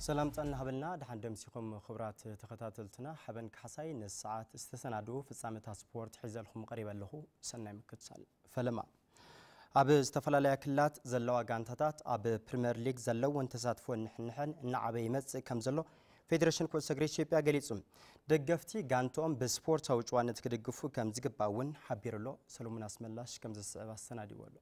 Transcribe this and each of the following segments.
ሰላም ጥዕና ሃበልና። ደሓን ደምሲኹም ክቡራት ተኸታተልትና። ሓበን ካሕሳይ ንሰዓት ዝተሰናድኡ ፍጻመታት ስፖርት ሒዘልኩም ቀሪበ ኣለኹ። ሰናይ ምክትታል። ፈለማ። ኣብ ዝተፈላለያ ክልላት ዘለዋ ጋንታታት ኣብ ፕሪምየር ሊግ ዘለወን ተሳትፎ ንሕንሕን እናዓበየ ይመጽእ ከም ዘሎ ፌዴሬሽን ኩዕሶ እግሪ ኢትዮጵያ ገሊጹ። ደገፍቲ ጋንትኦም ብስፖርታዊ ጭዋነት ክድግፉ ከም ዝግባእ እውን ሓቢሩ ኣሎ። ሰሎሞን ኣስመላሽ ከም ዝስዕብ ኣሰናዲዎ ኣሎ።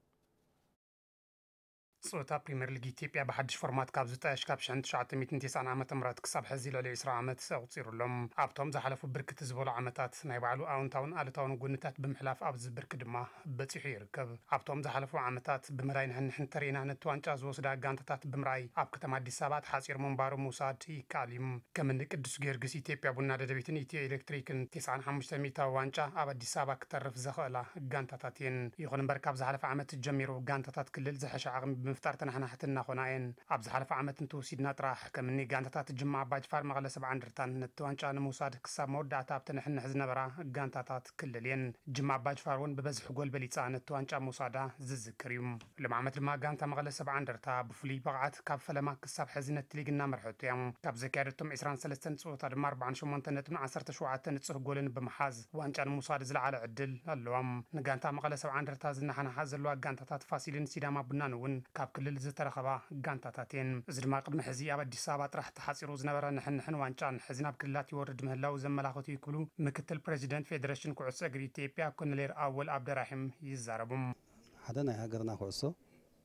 ጸወታ ፕሪምየር ሊግ ኢትዮጵያ ብሓድሽ ፎርማት ካብ ዝጣየሽ ካብ ሽሕን ትሽዓተ ሚእትን ተስዓን ዓመተ ምህረት ክሳብ ሕዚ ልዕሊ ዕስራ ዓመት ኣቑጺሩ ኣሎ። ኣብቶም ዝሓለፉ ብርክት ዝበሉ ዓመታት ናይ ባዕሉ ኣወንታውን ኣሉታውን ጎንታት ብምሕላፍ ኣብዚ ብርኪ ድማ በጺሑ ይርከብ። ኣብቶም ዝሓለፉ ዓመታት ብምራይ ንሕንሕን ተሪእና ነቲ ዋንጫ ዝወስዳ ጋንታታት ብምርኣይ ኣብ ከተማ ኣዲስ ኣበባ ተሓጺሩ ምንባሩ ምውሳድ ይከኣል እዩ። ከም እኒ ቅዱስ ጊዮርጊስ፣ ኢትዮጵያ ቡና ደደቢትን ኢትዮ ኤሌክትሪክን ተስዓን ሓሙሽተ ሚእታዊ ዋንጫ ኣብ ኣዲስ ኣበባ ክተርፍ ዘኽእላ ጋንታታት እየን። ይኹን እምበር ካብ ዝሓለፈ ዓመት ጀሚሩ ጋንታታት ክልል ዝሐሸ ዓቕሚ ብምፍጣር ተናሕናሕቲ እናኾና እየን። ኣብ ዝሓለፈ ዓመት እንተወሲድና ጥራሕ ከም እኒ ጋንታታት ጅማ ኣባጅፋር፣ መቐለ ሰብዓ እንደርታን ነቲ ዋንጫ ንምውሳድ ክሳብ መወዳእታ ኣብ ተነሕንሕ ዝነበራ ጋንታታት ክልል እየን። ጅማ ኣባጅፋር እውን ብበዝሒ ጎል በሊፃ ነቲ ዋንጫ ምውሳዳ ዝዝክር እዩ። ሎም ዓመት ድማ ጋንታ መቐለ ሰብዓ እንደርታ ብፍሉይ ብቕዓት ካብ ፈለማ ክሳብ ሕዚ ነቲ ሊግ እናመርሐቶ እያ። ካብ ዘካየደቶም ዕስራን ሰለስተን ፀወታ ድማ ኣርባዓን ሸሞንተን ነጥብን ዓሰርተ ሸውዓተ ንፁህ ጎልን ብምሓዝ ዋንጫ ንምውሳድ ዝለዓለ ዕድል ኣለዋ። ንጋንታ መቐለ ሰብዓ እንደርታ ዝነሓንሓ ዘለዋ ጋንታታት ፋሲልን ሲዳማ ቡናን እውን ካብ ክልል ዝተረኸባ ጋንታታት እየን። እዚ ድማ ቅድሚ ሕዚ ኣብ ኣዲስ ኣበባ ጥራሕ ተሓፂሩ ዝነበረ ንሕንሕን ዋንጫን ሕዚ ናብ ክልላት ይወርድ ምህላው ዘመላኽት እዩ ክብሉ ምክትል ፕሬዚደንት ፌዴሬሽን ኩዕሶ እግሪ ኢትዮጵያ ኮሎኔል ኣወል ኣብደራሒም ይዛረቡ። ሓደ ናይ ሃገርና ኩዕሶ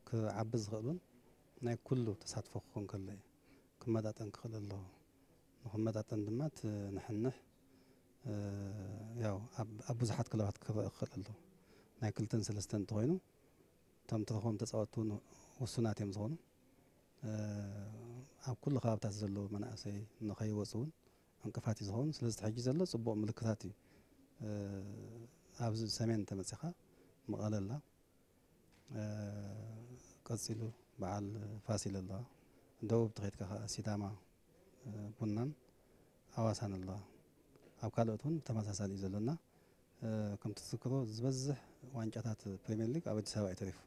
ክዓቢ ዝኽእል እውን ናይ ኩሉ ተሳትፎ ክኾን ከሎ እዩ። ክመጣጠን ክኽእል ኣለዎ። ንኽመጣጠን ድማ እቲ ንሕንሕ፣ እ፣ ያው ኣብ፣ ኣብ ብዙሓት ክለባት ክረአ ክኽእል ኣለዎ። ናይ ክልተን ሰለስተን እንተኾይኑ እቶም ትረኽቦም ተጻወትቲ እውን ውሱናት እዮም ዝኾኑ። እ፣ ኣብ ኩሉ ከባብታት ዘለዉ መናእሰይ ንኸይወፁ እውን ዕንቅፋት እዩ ዝኸውን። ስለዚ እቲ ሕጂ ዘሎ ጽቡቕ ምልክታት እዩ። እ፣ ኣብዚ ሰሜን እንተመጺኻ መቐለ ኣላ። እ፣ ቀጺሉ በዓል ፋሲል ኣለዋ። ደቡብ ተኸይድካ ከኣ ሲዳማ፣ እ፣ ቡናን ኣዋሳን ኣለዋ። ኣብ ካልኦት እውን ብተመሳሳሊ እዩ ዘሎና። እ፣ ከም ትዝክሮ ዝበዝሕ ዋንጫታት ፕሪምየር ሊግ ኣብ ኣዲስ ኣበባ እዩ ተሪፉ።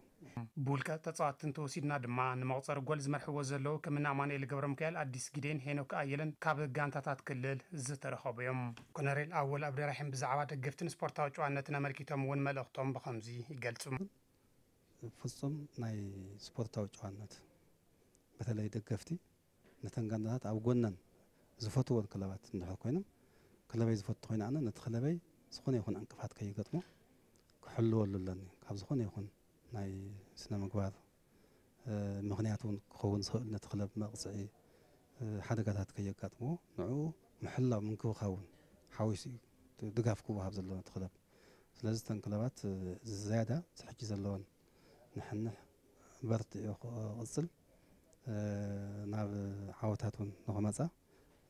ብውልቀ ተጻወትቲ እንተወሲድና ድማ ንመቑጸሪ ጎል ዝመርሕዎ ዘለዉ ከም እኒ ኣማኑኤል ገብረሚካኤል፣ ኣዲስ ጊዴን፣ ሄኖክ ኣየለን ካብ ጋንታታት ክልል ዝተረኸቡ እዮም። ኮነሬል ኣወል ኣብደራሒም ብዛዕባ ደገፍትን ስፖርታዊ ጨዋነትን ኣመልኪቶም እውን መልእኽቶም ብኸምዚ ይገልጹ። ፍጹም ናይ ስፖርታዊ ጨዋነት፣ በተለይ ደገፍቲ ነተን ጋንታታት ኣብ ጎነን ዝፈትወን ክለባት እንድሕር ኮይኖም፣ ክለበይ ዝፈቱ ኮይኑ ኣነ ነቲ ክለበይ ዝኾነ ይኹን ዕንቅፋት ከይገጥሞ ክሕልወሉ ኣለኒ። ካብ ዝኾነ ይኹን ናይ ስነ ምግባር፣ እ፣ ምኽንያት እውን ክኸውን ዝኽእል ነቲ ክለብ መቕጽዒ፣ እ፣ ሓደጋታት ከየጋጥምዎ ንዕኡ ምሕላው ምንክብኻብ እውን ሓዊሱ እዩ ድጋፍ ክወሃብ ዘለዎ ነቲ ክለብ። ስለዚ እተን ክለባት፣ እ፣ ዝያዳ እቲ ሕጂ ዘለወን ንሕንሕ በርቲዑ ክቕጽል፣ እ፣ ናብ ዓወታት እውን ንኽመጻ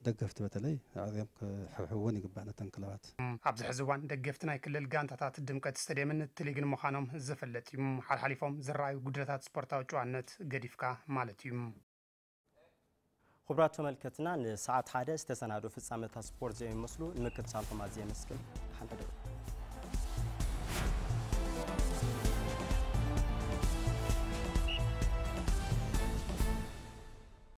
ደገፍቲ በተለይ ኣዕርዮም ክሕብሕብወን ይግባእ ነተን ክለባት። ኣብዚ ሕዚ እዋን ደገፍቲ ናይ ክልል ጋንታታት ድምቀት ስቴድየምን እቲ ሊግን ምዃኖም ዝፍለጥ እዩ። ሓልሓሊፎም ዝረኣዩ ጉድለታት ስፖርታዊ ጨዋነት ገዲፍካ ማለት እዩ። ክቡራት ተመልከትና፣ ንሰዓት ሓደ ዝተሰናዱ ፍጻመታት ስፖርት ዘዮም ይመስሉ። ንምክትታልኩም ኣዝየ የመስግን። ሓንቲ